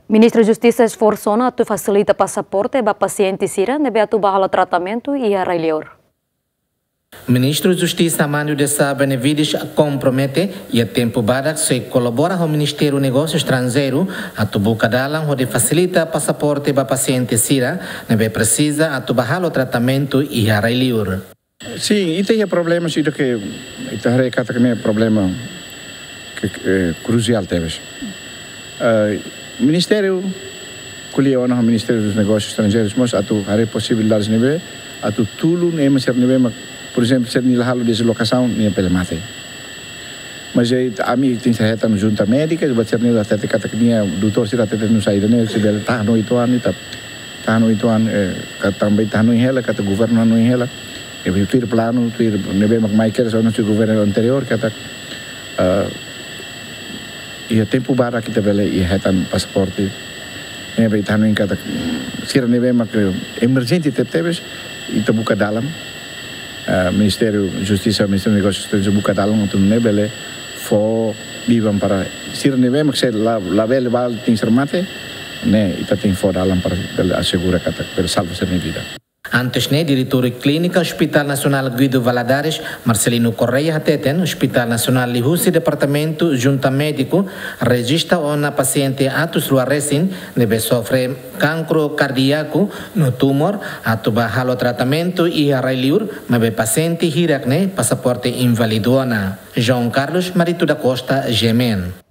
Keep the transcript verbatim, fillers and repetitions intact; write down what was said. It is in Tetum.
Ministru Justisa esforsu ona atu fasilita pasaporte ba pasiente sira ne'ebé atu ba halo tratamentu iha rai-liur. Ministru Justisa Manu Dessa Benevides kompromete iha tempu badak sei kolabora ho Ministériu Negósiu Estranjeiru atu buka dalan hodi fasilita pasaporte ba pasiente sira ne'ebé presiza atu ba halo tratamentu iha rai-liur. Sin, ita iha problema sira ke ita haree katak ne'e problema ke, eh, krusiál tebes. Eh, Ministériu ko'alia ona ho Ministériu dos Negósius Estranjeirus mós atu haree posibilidades ne'ebé atu tulun ema sira ne'ebé mak, por ezemplu, sira-nia la halo deslokasaun nia bele mate. Mas, eh, ami tenke hetan junta médika, buat sira-ne'e hatete katak nia doutór sira hatete nusá ida-ne'e, se bele tahan oitu an, ita tahan oitu an, eh, ka tanba ita hanoin hela, katak governu hanoin hela, eh, tuir planu, tuir ne'ebé mak mai kedas ona husi governu anteriór, katak, eh, iha tempu badak ita bele iha hetan pasaporte. Ne'ebé ita hanoin katak, mm, sira ne'ebé mak, eh, emerjente tebetebes, ita buka dalan. Eh, Ministériu Justisa, Ministériu Negósius Estranjeirus buka dalan atu nune'e bele fó biban para sira ne'ebé mak sei la, labele ba tenke ser mate, ne'e ita tenke fó dalan para bele asegura katak bele salva sira-nia vida. Antes ne'e, Diretór Klínika Hospital Nasionál Guido Valadares, Marcelino Correia hateten, Hospital Nasionál liuhusi Departamentu Junta Médiku rejista ona pasiente atus rua resin ne'ebé sofre kankru kardíaku no tumór atu ba halo tratamentu iha rai-liur, maibé pasiente hirak ne'e pasaporte inválidu ona. João Carlos Marito da Costa, G M N.